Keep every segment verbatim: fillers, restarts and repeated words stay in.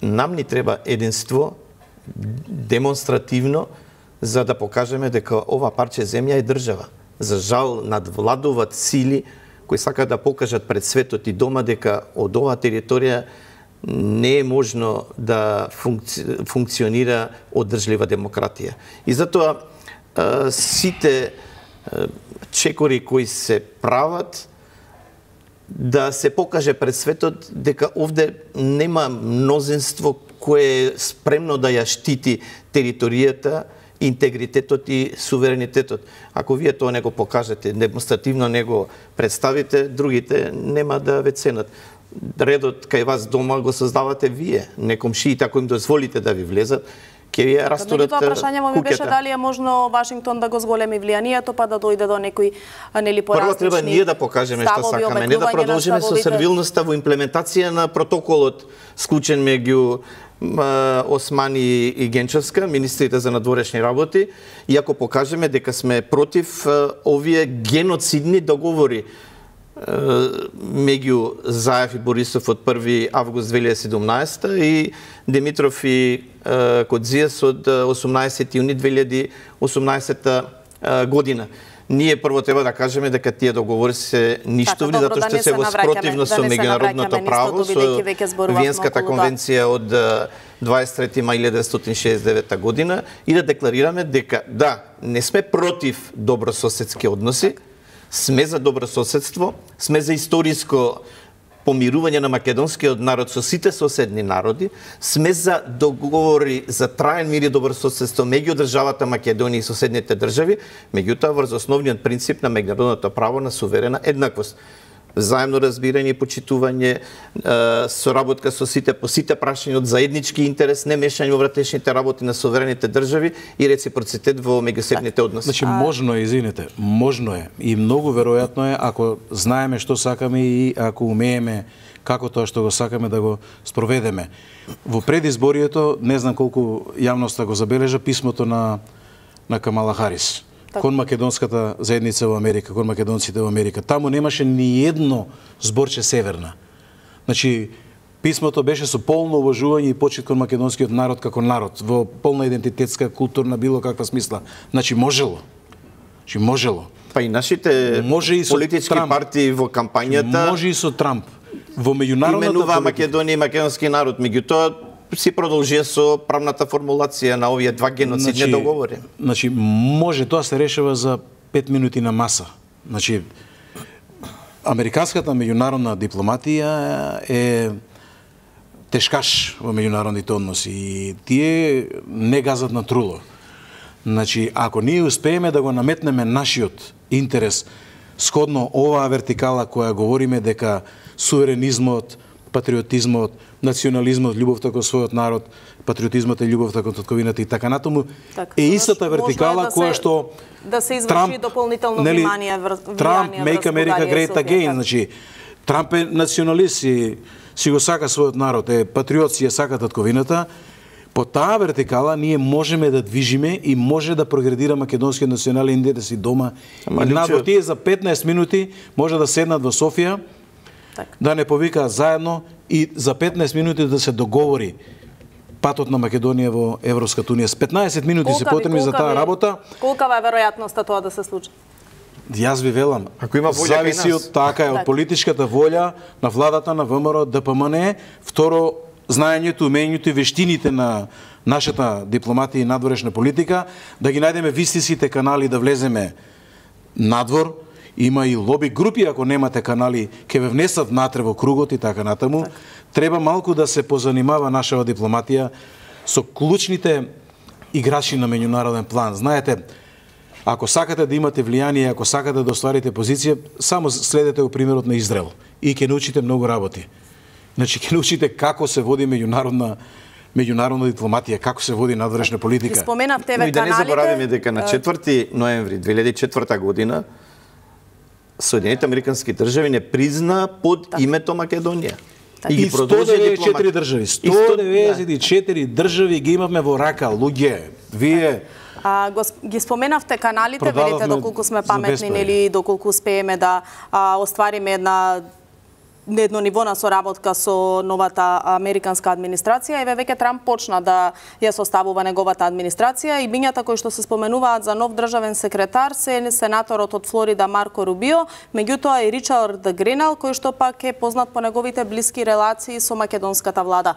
нам ни треба единство, демонстративно, за да покажеме дека ова парче земја е држава. За жал, надвладуваат сили кои сакаат да покажат пред светот и дома дека од оваа територија не е можно да функци... функционира одржлива демократија. И затоа сите чекори кои се прават, да се покаже пред светот дека овде нема мнозинство кое е спремно да ја штити територијата, интегритетот и суверенитетот. Ако вие тоа не го покажете, демонстративно не го представите, другите нема да ве ценат. Редот кај вас дома го создавате вие, не комшиите, ако им дозволите да ви влезат, ќе ви ја растурат куќата. Прашањето ми беше дали е можно Вашингтон да го зголеми влијанието, па да дојде до некои нели поразлични. Прво треба ние да покажеме што сакаме, не да продолжиме со сервилноста во имплементација на протоколот склучен меѓу Османи и Генчевска, министрите за надворешни работи, и ако покажеме дека сме против овие геноцидни договори меѓу Заев и Борисов од први август две илјади и седумнаесета и Димитров и Кодзијас од осумнаесети јуни две илјади и осумнаесета година. Ние прво треба да кажеме дека тие договори се ништовни, затоа што се во спротивно со меѓународното право, со Виенската конвенција од дваесет и трети мај илјадесетстотини шеесет и девета година, и да декларираме дека да, не сме против добрососедски односи, сме за добрососедство, сме за историско помирување на македонскиот народ со сите соседни народи, сме за договори за траен мир и добрососедство меѓу државата Македонија и соседните држави, меѓутоа врз основниот принцип на меѓународното право на суверена еднаквост. Заемно разбирање и почитување, соработка со сите по сите прашања од заеднички интерес, не мешање во внатрешните работи на суверените држави и реципроцитет во меѓусебните односи. Значи можно е, извинете, можно е и многу веројатно е ако знаеме што сакаме и ако умееме како тоа што го сакаме да го спроведеме. Во предизборието, не знам колку јавноста го забележа писмото на на Камала Харис кон македонската заедница во Америка, кон македонците во Америка. Таму немаше ни едно зборче северна. Значи, писмото беше со полно уважување и почит кон македонскиот народ како народ, во полна идентитетска, културна, било каква смисла. Значи, можело. Значи, можело. Па и нашите може и политички Трамп. партии во кампањата... Може и со Трамп. Во меѓународната именува Македонија и македонски народ, меѓутоа си продолжија со правната формулација на овие два геноцидни значи, договори. Значи, може тоа се решава за пет минути на маса. Значи, американската меѓународна дипломатија е тешкаш во меѓународните односи и тие не газат на труло. Значи, ако ние успееме да го наметнеме нашиот интерес сходно оваа вертикала која говориме дека суверенизмот, патриотизмот, национализмот, љубовта кон својот народ, патриотизмот и љубовта кон татковината и така натаму, так, е истата вертикала која што да се изврши дополнително внимание врз Трамп make America great again, значи Трамп е националист и си го сака својот народ, е патриот, си ја сака татковината. По таа вертикала ние можеме да движиме и може да прогредира македонскиот национален интерес и дома. Ама, и надвор тие за петнаесет минути може да седнат во Софија, так. да не повикаат заедно и за петнаесет минути да се договори патот на Македонија во Европската унија. С петнаесет минути колка се потребни за таа работа. Колкава е веројатноста тоа да се случи? Јас ви велам, ако има волја зависи од така е од политичката волја на владата на ВМРО, ДПМН, второ знаењето, умењето и вештините на нашата дипломатија и надворешна политика, да ги најдеме вистинските канали да влеземе надвор. Има и лоби групи, ако немате канали, ќе ве внесат внатре во кругот и така натаму. Так. Треба малку да се позанимава нашава дипломатија со клучните играчи на меѓународен план. Знаете, ако сакате да имате влијание, ако сакате да остварите позиција, само следете го примерот на Израел и ќе научите многу работи. Значи, ќе научите како се води меѓународна меѓународна дипломатија, како се води надворешна политика. Споменавте ве каналите. Но и да не забораваме дека на четврти ноември две илјади и четврта година Соединените американски држави не призна под так. името Македонија. Так. И, и сто деветдесет и четири држави, сто деветдесет и четири држави ги имавме во рака, луѓе. Вие А, го, ги споменавте каналите, велите доколку сме паметни или доколку успееме да а, оствариме една едно ниво на соработка со новата американска администрација. Еве веќе Трамп почна да ја составува неговата администрација и бињата кои што се споменуваат за нов државен секретар се сенаторот од Флорида Марко Рубио, меѓутоа и Ричард Гринал, кој што пак е познат по неговите блиски релации со македонската влада.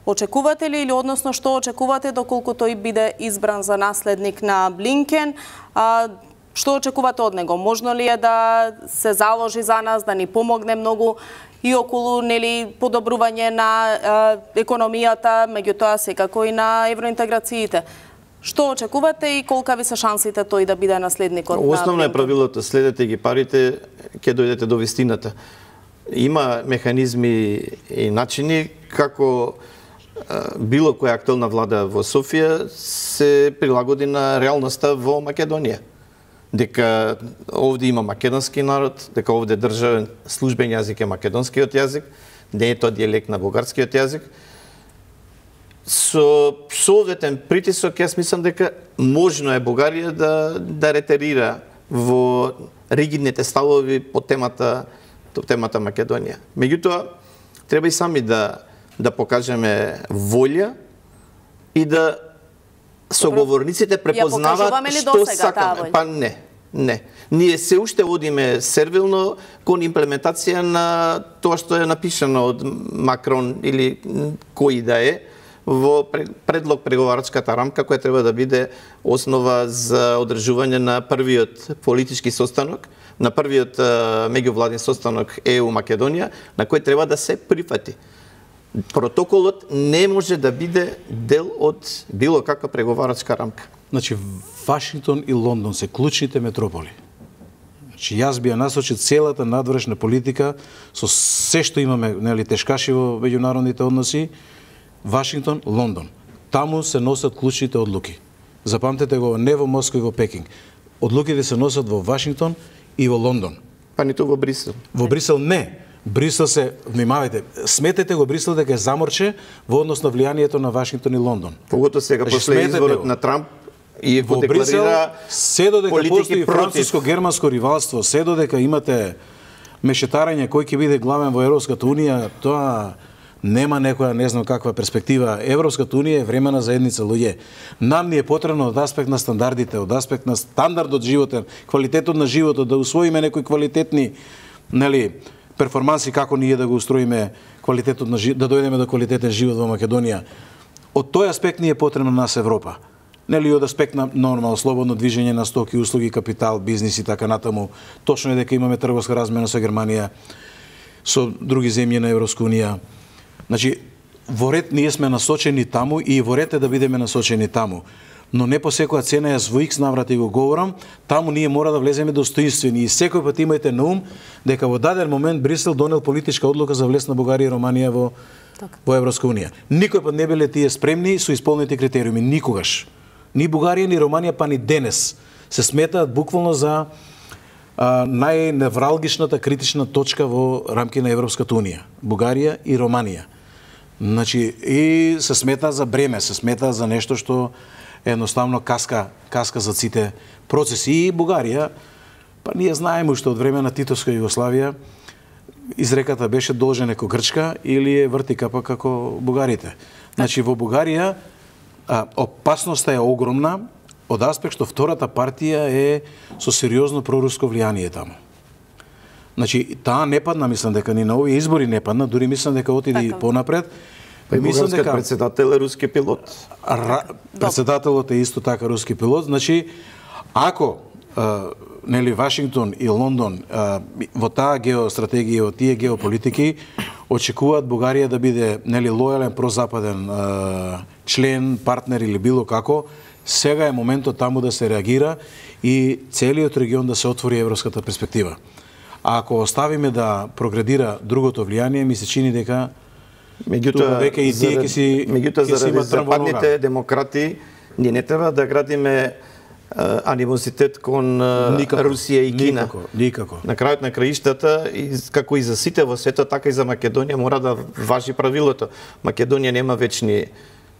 Очекувате ли или односно што очекувате доколку тој биде избран за наследник на Блинкен? А, што очекувате од него? Можно ли е да се заложи за нас, да ни помогне многу и околу нели подобрување на е, економијата, меѓутоа секако и на евроинтеграциите? Што очекувате и колка ви се шансите тој да биде наследникот? Основно е правилото, следете ги парите, ќе дојдете до вистината. Има механизми и начини како било која актуелна влада во Софија се прилагоди на реалноста во Македонија. Дека овде има македонски народ, дека овде државен службен јазик е македонскиот јазик, не е тоа дијалект на бугарскиот јазик. Со соодветен притисок, јас мислам дека можно е Бугарија да, да ретерира во ригидните ставови по темата, по темата Македонија. Меѓутоа, треба и сами да да покажеме волја и да соговорниците препознаваат што сакаме. Па не, не. Ние се уште одиме сервилно кон имплементација на тоа што е напишано од Макрон или кој да е во предлог преговарачката рамка која треба да биде основа за одржување на првиот политички состанок, на првиот меѓувладин состанок Е У Македонија, на кој треба да се прифати. Протоколот не може да биде дел од било каква преговарачка рамка. Значи, Вашингтон и Лондон се клучните метрополи. Значи, јас би ја насочил целата надворешна политика со се што имаме, нели, тешкаши во меѓународните односи, Вашингтон, Лондон. Таму се носат клучните одлуки. Запамтете го, не во Москва и во Пекинг. Одлуките се носат во Вашингтон и во Лондон. Па ниту во Брисел. Во Брисел не. Брисел се, внимавајте, сметете го Брисел дека е заморче во однос на влијанието на Вашингтон и Лондон. Погото сега после изборот на Трамп и го декларира се додека постои француско-германско ривалство, се додека имате мешетарање кој ќе биде главен во Европската унија, тоа нема некоја не знам каква перспектива. Европската унија е времена заедница луѓе. Нам ни е потребно од аспект на стандардите, од аспект на стандардот животен, квалитетот на животот, да усвоиме некои квалитетни, нели, перформанси како ние да го устроиме квалитетот на живот, да дојдеме до квалитетен живот во Македонија. Од тој аспект ни е потребна нас Европа. Нели од аспект на нормално слободно движење на стоки, услуги, капитал, бизнис и така натаму. Точно е дека имаме трговска размена со Германија, со други земји на Европска унија. Значи, во ред ние сме насочени таму и во ред е да бидеме насочени таму. Но не по секоја цена, јас во икс наврати го говорам, таму ние мора да влеземе достоинствени и секој пат имајте на ум дека во даден момент Брисел донел политичка одлука за влез на Бугарија и Романија во, во Европска унија. Никој пат не биле тие спремни со исполнените критериуми, никогаш. Ни Бугарија, ни Романија, па ни денес се сметаат буквално за а, најневралгичната критична точка во рамки на Европската унија. Бугарија и Романија. Значи, и се смета за бреме, се смета за нешто што едноставно каска, каска за сите процеси. И Бугарија, па ние знаеме уште од време на Титовска Југославија, изреката беше должен како Грчка или е врти капа како бугарите. Значи, во Бугарија а, опасноста е огромна од аспект што втората партија е со сериозно проруско влијание таму. Значи, таа не падна, мислам дека ни на овие избори не падна, дури мислам дека отиде и понапред. Па мислам дека председател е руски пилот. Ра... Председателот е исто така руски пилот. Значи, ако а, нели Вашингтон и Лондон а, во таа геостратегија, во тие геополитики очекуваат Бугарија да биде нели лојален прозападен а, член, партнер или било како, сега е моментот таму да се реагира и целиот регион да се отвори европската перспектива. А ако оставиме да прогредира другото влијание, ми се чини дека Меѓутоа, веќе и тие ќе си меѓутоа заради западните демократи ние не треба да градиме а, анимозитет кон а, Русија и Кина. Никако, никако. На крајот на краиштата, и, како и за сите во светот, така и за Македонија мора да важи правилото. Македонија нема вечни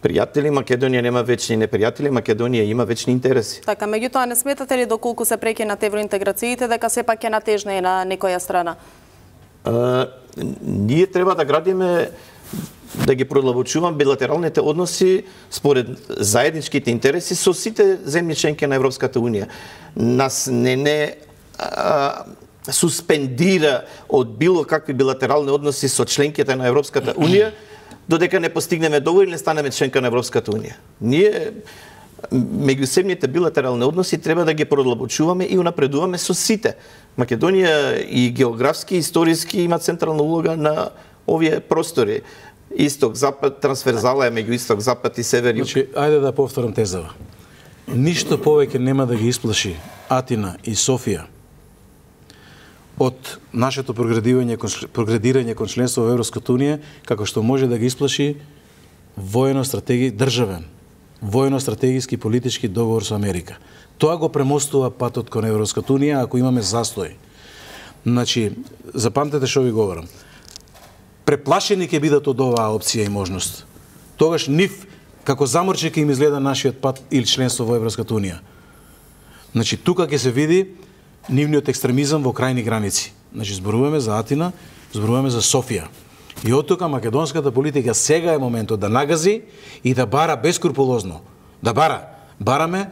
пријатели, Македонија нема вечни непријатели, Македонија има вечни интереси. Така, меѓутоа не сметате ли доколку се прекинат евроинтеграциите дека сепак ќе натежне на некоја страна? Uh, ние треба да градиме, да ги продлабочуваме билатералните односи според заедничките интереси со сите земји членки на Европската унија. Нас не не а, суспендира од било какви билатерални односи со членките на Европската унија, додека не постигнеме договор и не станеме членка на Европската унија. Ние меѓусебните билатерални односи треба да ги продлабочуваме и унапредуваме со сите. Македонија и географски и историски има централна улога на овие простори. Исток, запад, трансферзала е меѓу исток, запад и север. Значи, ајде да повторам тезава. Ништо повеќе нема да ги исплаши Атина и Софија од нашето проградирање кон, проградирање кон членство во Европската унија, како што може да ги исплаши воено-стратеги државен, воено-стратегиски политички договор со Америка. Тоа го премостува патот кон Европската унија ако имаме застој. Значи, запамтете што ви говорам. Преплашени ќе бидат од оваа опција и можност. Тогаш нив како заморче ќе им изгледа нашиот пат или членство во Европската унија. Значи, тука ќе се види нивниот екстремизам во крајни граници. Значи, зборуваме за Атина, зборуваме за Софија. И од тука македонската политика сега е моментот да нагази и да бара бескрупулозно. Да бара. Бараме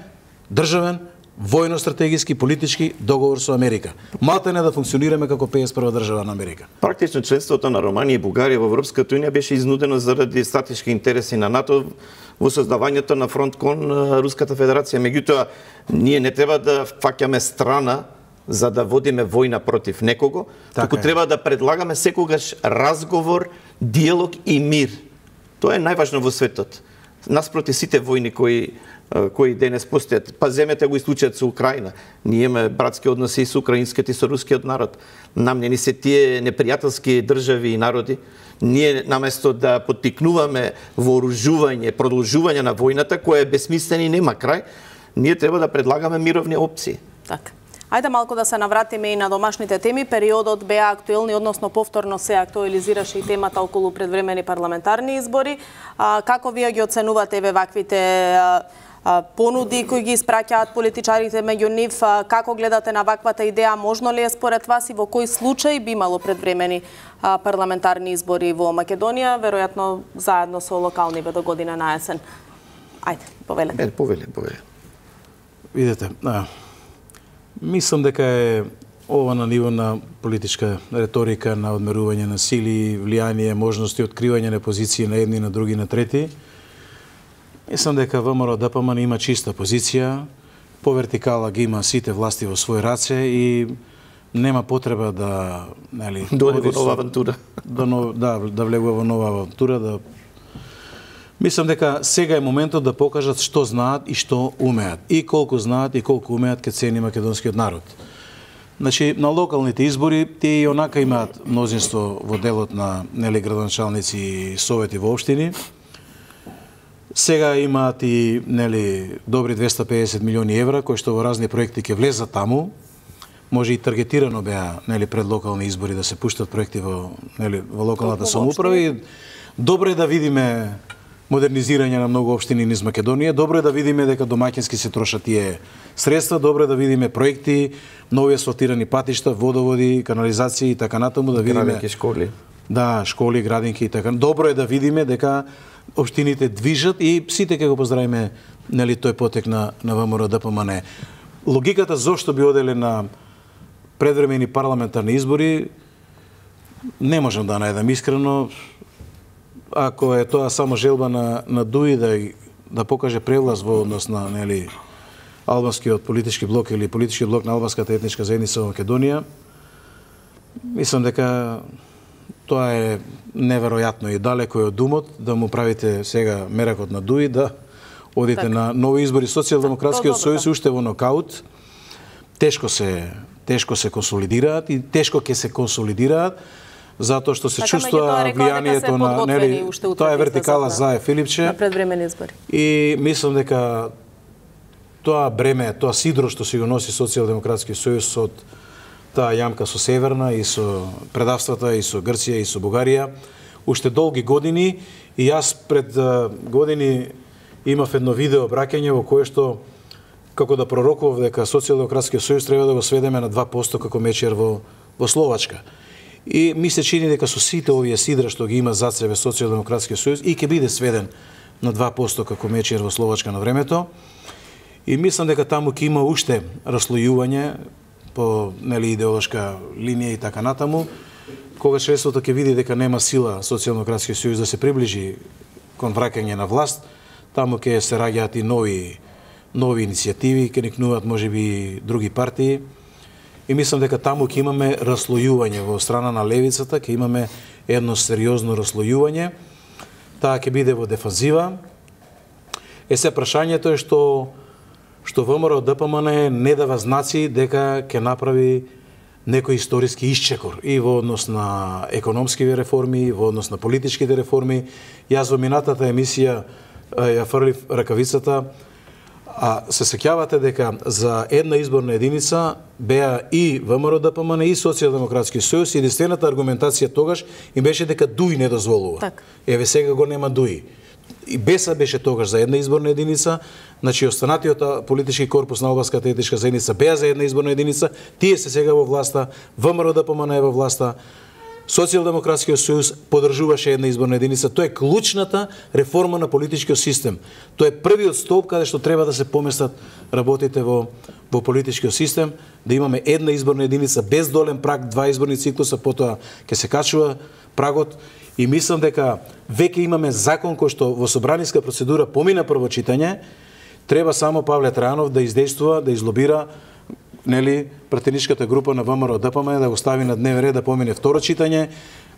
државен, војно-стратегиски, политички договор со Америка. Малта не да функционираме како педесет и прва држава на Америка. Практично членството на Романија и Бугарија во Европската унија беше изнудено заради стратешки интереси на НАТО во создавањето на фронт кон Руската Федерација. Меѓутоа, ние не треба да фаќаме страна за да водиме војна против некого, така туку е. Треба да предлагаме секогаш разговор, диалог и мир. Тоа е најважно во светот. Наспроти сите војни кои кои денес постојат. Па земете го и случајот со Украина. Ние имаме братски односи и со украинскиот и со рускиот народ. Нам не ни се тие непријателски држави и народи. Ние наместо да поттикнуваме вооружување, продолжување на војната која е бесмислена и нема крај, ние треба да предлагаме мировни опции. Така. Ајде малку да се навратиме и на домашните теми. Периодот беа актуелни, односно повторно се актуализираше и темата околу предвремени парламентарни избори. А, како вие ги оценувате еве ваквите а, а, понуди кои ги испраќаат политичарите меѓу нив? А, како гледате на ваквата идеја? Можно ли е според вас и во кој случај би имало предвремени а, парламентарни избори во Македонија, веројатно заедно со локалниве до година на есен? Ајде, повелете. Е, повеле, повеле. Видете, а, мислам дека е ова на ниво на политичка реторика, на одмерување на сили, влијание, можности, откривање на позиции на едни, на други, на трети. Мислам дека ВМРО Д П М Н има чиста позиција, по вертикала ги има сите власти во свој раце и нема потреба да, нели, дојде во нова авантура. Да, да, да влегува во нова авантура, да Мислам дека сега е моментот да покажат што знаат и што умеат. И колку знаат и колку умеат ке цени македонскиот народ. Значи, на локалните избори тие и онака имаат мнозинство во делот на нели градоначалници и совети во општини. Сега имаат и нели добри двеста и педесет милиони евра кои што во разни проекти ќе влезат таму. Може и таргетирано беа нели пред локални избори да се пуштат проекти во нели во локалната самоуправа и добро е да видиме модернизирање на многу општини низ Македонија. Добро е да видиме дека домаќински се трошат тие средства, добро е да видиме проекти, нови асфалтирани патишта, водоводи, канализации и така натаму, да видиме градинки, школи. Да, школи, градинки и така. Добро е да видиме дека општините движат и сите ќе го поздравиме нели тој потек на на ВМРО Д П М Н. Логиката зошто би оделе на предвремени парламентарни избори не можам да најдам искрено. Ако е тоа само желба на на Дуи да да покаже превлас во однос на нели албанскиот политички блок или политички блок на албанската етничка заедница во Македонија, мислам дека тоа е неверојатно и далеко е од умот да му правите сега меракот на Дуи да одите так. на нови избори. Социјалдемократскиот сојуз уште во нокаут, тешко се тешко се консолидираат и тешко ќе се консолидираат затоа што се така, чувствува влијанието на нели тоа е вертикала за Филипче на предвремени избори. И мислам дека тоа бреме, тоа сидро што си го носи Социјалдемократскиот сојуз од таа јамка со Северна и со предавствата и со Грција и со Бугарија уште долги години и јас пред години имав едно видео обраќање во кое што како да пророкував дека Социјалдемократскиот сојуз треба да го сведеме на два проценти како мечер во во Словачка. И ми се чини дека со сите овие сидра што ги има зад себе Социјалдемократскиот сојуз и ќе биде сведен на два проценти како Мечер во Словачка на времето. И мислам дека таму ќе има уште раслојување по нели идеолошка линија и така натаму. Кога шеството ќе види дека нема сила Социјалдемократскиот сојуз да се приближи кон враќање на власт, таму ќе се раѓаат и нови нови иницијативи, ќе никнуваат можеби други партии. И мислам дека таму ќе имаме раслојување во страна на левицата, ќе имаме едно сериозно раслојување. Таа ќе биде во дефанзива. Е се прашањето е што што ВМРО ДПМН не дава знаци дека ќе направи некој историски исчекор и во однос на економските реформи, во однос на политичките реформи. Јас во минатата емисија ја фрлив ракавицата, а се сеќавате дека за една изборна единица беа и ВМРО ДПМН и Социјалдемократски сојуз и единствената аргументација тогаш им беше дека ДУИ не дозволува. Так. Еве сега го нема ДУИ. И Беса беше тогаш за една изборна единица, значи останатиот политички корпус на албанската етничка заедница беа за една изборна единица, тие се сега во власта, ВМРО ДПМН е во власта, Социјалдемократскиот сојуз поддржуваше една изборна единица. Тоа е клучната реформа на политичкиот систем. Тоа е првиот столб каде што треба да се поместат работите во во политичкиот систем, да имаме една изборна единица без долен праг, два изборни циклуса, потоа ќе се качува прагот. И мислам дека веќе имаме закон кој што во собраниска процедура помина прво читање, треба само Павле Трајанов да издействува, да излобира нели пратеничката група на ВМРО ДПМН да го стави на дневен ред, да помине второ читање,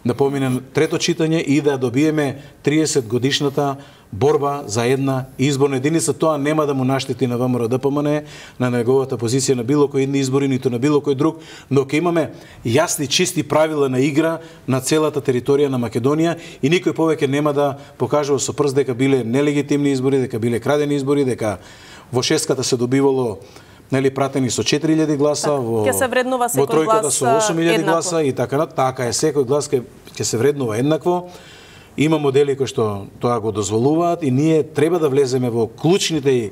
да помине трето читање и да добиеме триесет годишната борба за една изборна единица. Тоа нема да му наштети на ВМРО ДПМН, на неговата позиција на било кој едни избори, ниту на било кој друг, но ќе имаме јасни, чисти правила на игра на целата територија на Македонија и никој повеќе нема да покажува со прст дека биле нелегитимни избори, дека биле крадени избори, дека во шестката се добивало нели пратени со четири илјади гласа, так, во, во тројката со осум илјади гласа и така, така е, секој глас ќе ќе се вреднува еднакво. Има модели кои што тоа го дозволуваат и ние треба да влеземе во клучните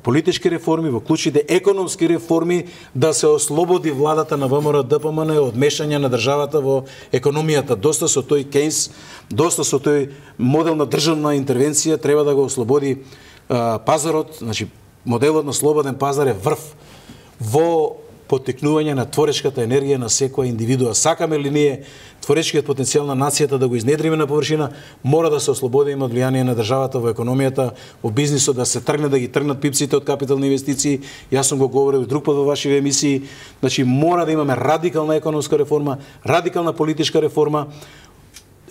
политички реформи, во клучните економски реформи, да се ослободи владата на ВМРО ДПМН од мешање на државата во економијата. Доста со тој Кейнс, доста со тој модел на државна интервенција треба да го ослободи а, пазарот, значи моделот на слободен пазар е врв во поттикнување на творечката енергија на секоја индивидуа. Сакаме ли ние творечкиот потенцијал на нацијата да го изнедриме на површина, мора да се ослободиме од влијание на државата во економијата, во бизнисот, да се тргне, да ги тргнат пипците од капитални инвестиции. Јас сум го говорил друг пат во вашите емисии. Значи мора да имаме радикална економска реформа, радикална политичка реформа.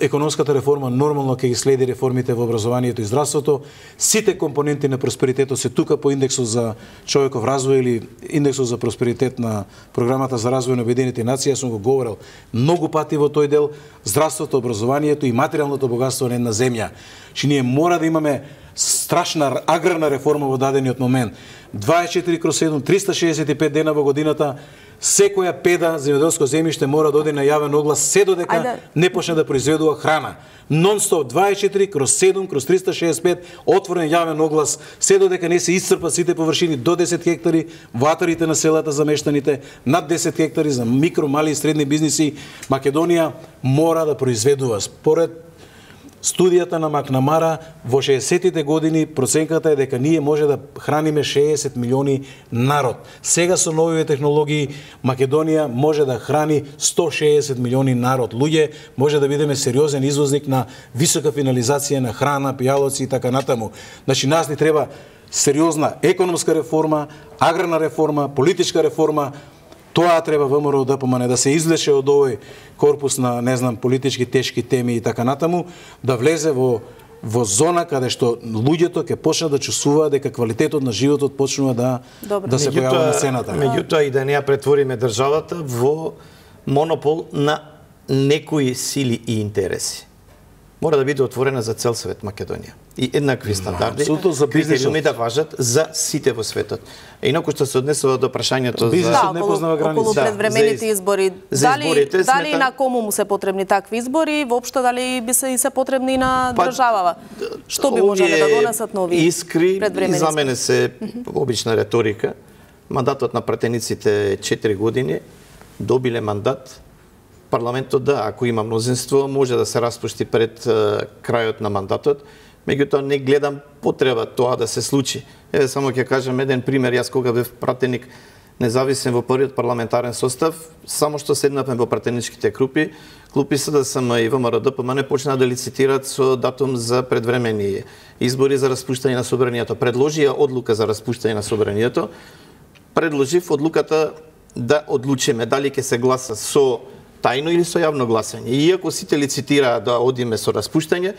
Економската реформа нормално ќе ги следи реформите во образованието и здравството. Сите компоненти на просперитетот се тука по индексот за човеков развој или индексот за просперитет на програмата за развој на Обединетите нации. Јас сум го говорил многу пати во тој дел. Здравството, образованието и материјалното богатство на една земја. Че ние мора да имаме страшна аграрна реформа во дадениот момент. дваесет и четири кроз седум, триста шеесет и пет дена во годината, секоја педа земјоделско земјиште мора да оди на јавен оглас се додека Ајде. не почне да произведува храна. Нон-стоп дваесет и четири кроз седум кроз триста шеесет и пет отворен јавен оглас се додека не се исцрпат сите површини до десет хектари во атарите на селата за мештаните, над десет хектари за микро, мали и средни бизниси. Македонија мора да произведува. Според студијата на Макнамара во шеесеттите години проценката е дека ние може да храниме шеесет милиони народ. Сега со новите технологии Македонија може да храни сто шеесет милиони народ. Луѓе, може да бидеме сериозен извозник на висока финализација на храна, пијалоци и така натаму. Значи нас ни треба сериозна економска реформа, аграрна реформа, политичка реформа. Тоа треба ВМРО ДПМН да се извлече од овој корпус на, не знам, политички тешки теми и така натаму, да влезе во во зона каде што луѓето ќе почнат да чувствуваат дека квалитетот на животот почнува да Добре. да се појавува на сцената. Меѓутоа и да не ја претвориме државата во монопол на некои сили и интереси. Мора да биде отворена за цел свет Македонија. И еднакви стандарди, критериуми да важат за сите во светот. Инаку што се однесува до прашањето за да, не познава граници. Околу предвремените избори, дали изборите, дали смета... на кому му се потребни такви избори, воопшто дали би се и се потребни и на па, државава? Што би можеле да донесат нови искри, предвремени? За мене се обична реторика. Мандатот на пратениците е четири години, добиле мандат парламентот да, ако има мнозинство, може да се распушти пред крајот на мандатот. Меѓутоа не гледам потреба тоа да се случи. Еве само ќе кажам еден пример, јас кога бев пратеник независен во првиот парламентарен состав, само што седнавме во пратеничките групи, клупи СДСМ и ВМРО-ДПМН почнаа да лицитираат со датум за предвремени избори за распуштање на собранието. Предложија одлука за распуштање на собранието. Предложив одлуката да одлучиме дали ќе се гласа со тајно или со јавно гласање. И иако сите лицитираа да одиме со распуштање,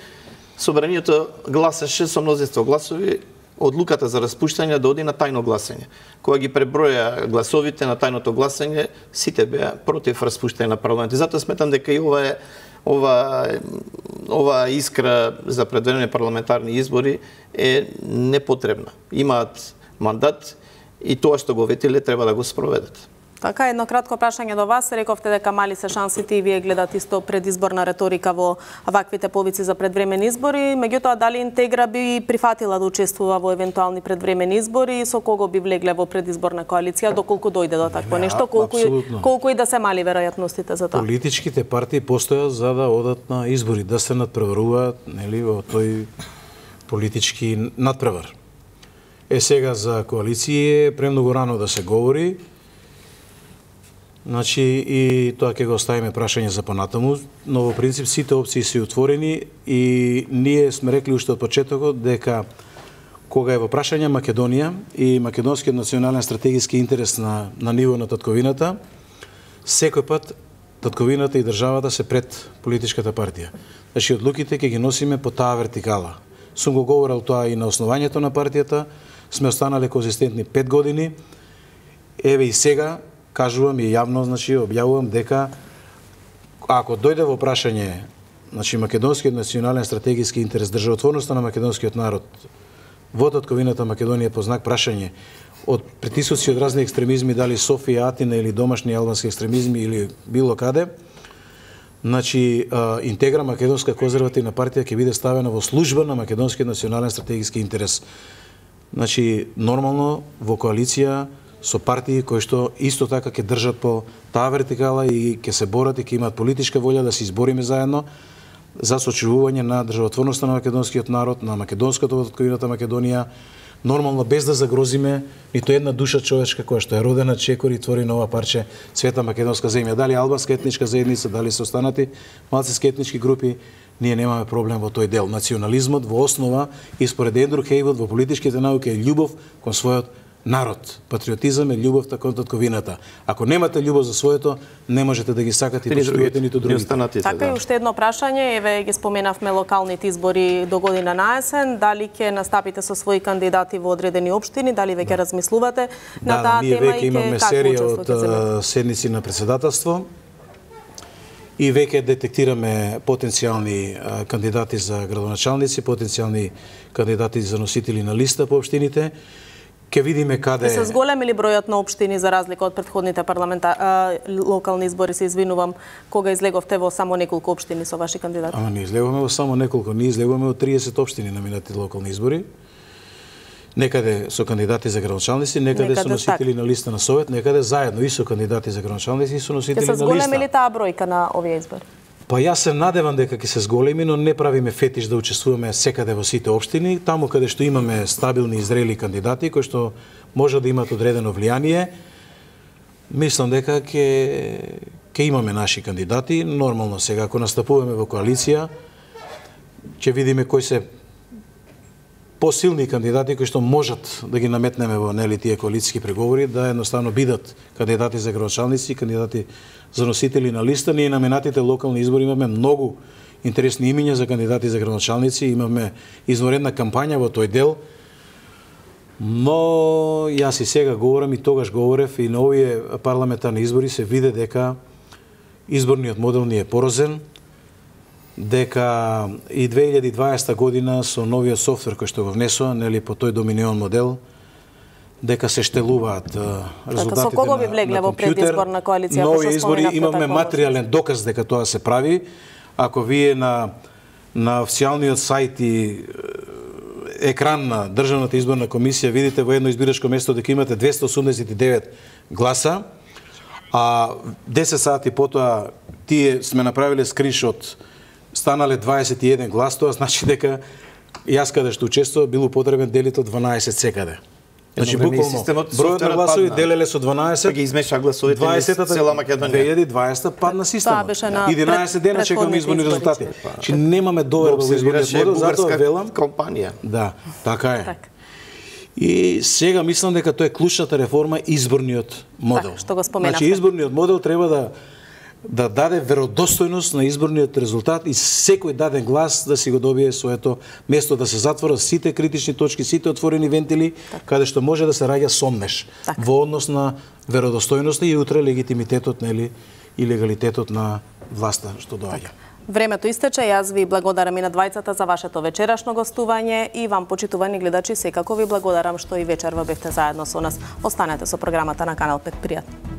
собранието гласаше со мнозинство гласови одлуката за распуштање да оди на тајно гласање. Кога ги преброја гласовите на тајното гласање, сите беа против распуштање на парламентот. Затоа сметам дека и ова е ова ова искра за предвремени парламентарни избори е непотребна. Имаат мандат и тоа што го ветиле треба да го спроведат. Така, едно кратко прашање до вас. Рековте дека мали се шансите и вие гледате исто предизборна реторика во ваквите повици за предвремени избори. Меѓутоа, дали Интегра би прифатила да учествува во евентуални предвремени избори и со кого би влегле во предизборна коалиција, доколку дојде до такво нешто, колку и, колку и да се мали веројатностите за тоа? Политичките партии постојат за да одат на избори, да се надпреваруваат, нели, во тој политички надпревар. Е, сега за коалиција е премногу рано да се говори. Значи, и тоа ќе го оставиме прашање за понатаму, но во принцип сите опции се отворени и ние сме рекли уште од почетокот дека кога е во прашање Македонија и македонскиот национален стратегиски интерес на, на ниво на татковината, секој пат татковината и државата се пред политичката партија. Значи, одлуките ќе ги носиме по таа вертикала. Сум го говорил тоа и на основањето на партијата, сме останале конзистентни пет години, еве и сега, кажувам и јавно, значи, објавувам дека ако дојде во прашање, значи, македонскиот национален стратегиски интерес, државотворноста на македонскиот народ во татковината Македонија по знак прашање од притисоци од разни екстремизми, дали Софија, Атина или домашни албански екстремизми или било каде, значи, Интегра македонска конзервативна партија ќе биде ставена во служба на македонскиот национален стратегиски интерес. Значи, нормално во коалиција со партии кои што исто така ќе држат по таа вертикала и ќе се борат и ќе имаат политичка волја да се избориме заедно за сочувување на државотворноста на македонскиот народ, на македонската во татковината Македонија, нормално без да загрозиме ниту една душа човечка која што е родена чекор и твори нова парче света македонска земја. Дали албанска етничка заедница, дали се останати малцински етнички групи, ние немаме проблем во тој дел. Национализмот во основа и според Ендрю Хејвуд во политичките науки е љубов кон својот народ. Патриотизам е љубовта кон татковината. Ако немате љубов за своето, не можете да ги сакате и почитувате ниту другите. Така и уште едно прашање, еве ги споменавме локалните избори до година на есен, дали ќе настапите со своји кандидати во одредени општини, дали веќе размислувате на таа тема и ќе имаме серија од седници на председателство и веќе детектираме потенцијални кандидати за градоначалници, потенцијални кандидати за носители на листа по општините. Ке видиме каде... Се зголеми ли бројот на општини за разлика од претходните парламента... локални избори, се извинувам, кога излеговте во само неколку општини со ваши кандидати? Ама не излегуваме во само неколку, ние излегуваме од триесет општини на минатите локални избори. Некаде со кандидати за градоначалници, некаде, некаде со носители так. на листа на совет, некаде заедно и со кандидати за градоначалници и со носители на листа. Ке се зголеми ли таа бројка на овие избори? Па јас се надевам дека ќе се зголеми, но не правиме фетиш да учествуваме секаде во сите општини, таму каде што имаме стабилни и зрели кандидати кои што може да имаат одредено влијание. Мислам дека ќе ќе имаме наши кандидати, нормално сега ако настапуваме во коалиција, ќе видиме кои се посилни кандидати кои што можат да ги наметнеме во нели тие коалициски преговори, да едноставно бидат кандидати за градоначалници, кандидати за носители на листа. Ние на минатите локални избори имаме многу интересни имиња за кандидати за градоначалници, имаме извонредна кампања во тој дел, но јас и сега говорам и тогаш говорев и на овие парламентарни избори се виде дека изборниот модел ни е порозен, дека и две илјади и дваесета година со новиот софтвер кој што го внесоа, нели по тој доминион модел, дека се штелуваат резултатите со кого би влегле во предизборна коалиција? Нови избори имаме материјален доказ дека тоа се прави. Ако вие на на официјалниот сајт и екран на Државната изборна комисија видите во едно избирачко место дека имате двесте осумдесет и девет гласа, а десет сати потоа тие сме направиле скриншот, станале дваесет и еден глас, тоа значи дека јас каде што учествував бил употребен делител дванаесет секаде. Значи буквално бројот на гласови делеле со дванаесет, па ги измеша гласовите дваесетата цела Македонија. две илјади и дваесета падна система. единаесет дена чекаме изборни резултати. Значи немаме доверба во изборниот модел, затоа велам компанија. Да, така е. И сега мислам дека тоа е клучната реформа изборниот модел. Так, што го споменавте. Значи изборниот модел треба да да даде веродостојност на изборниот резултат и секој даден глас да си го добие своето место, да се затворат сите критични точки, сите отворени вентили, так, каде што може да се раѓа сомнеш так, во однос на веродостојноста и утре легитимитетот, нели, и легалитетот на власта што доаѓа. Времето истече, јас ви благодарам и на двајцата за вашето вечерашно гостување и вам, почитувани гледачи, секако ви благодарам што и вечерва бевте заедно со нас. Останете со програмата на Канал пет. Пријатно.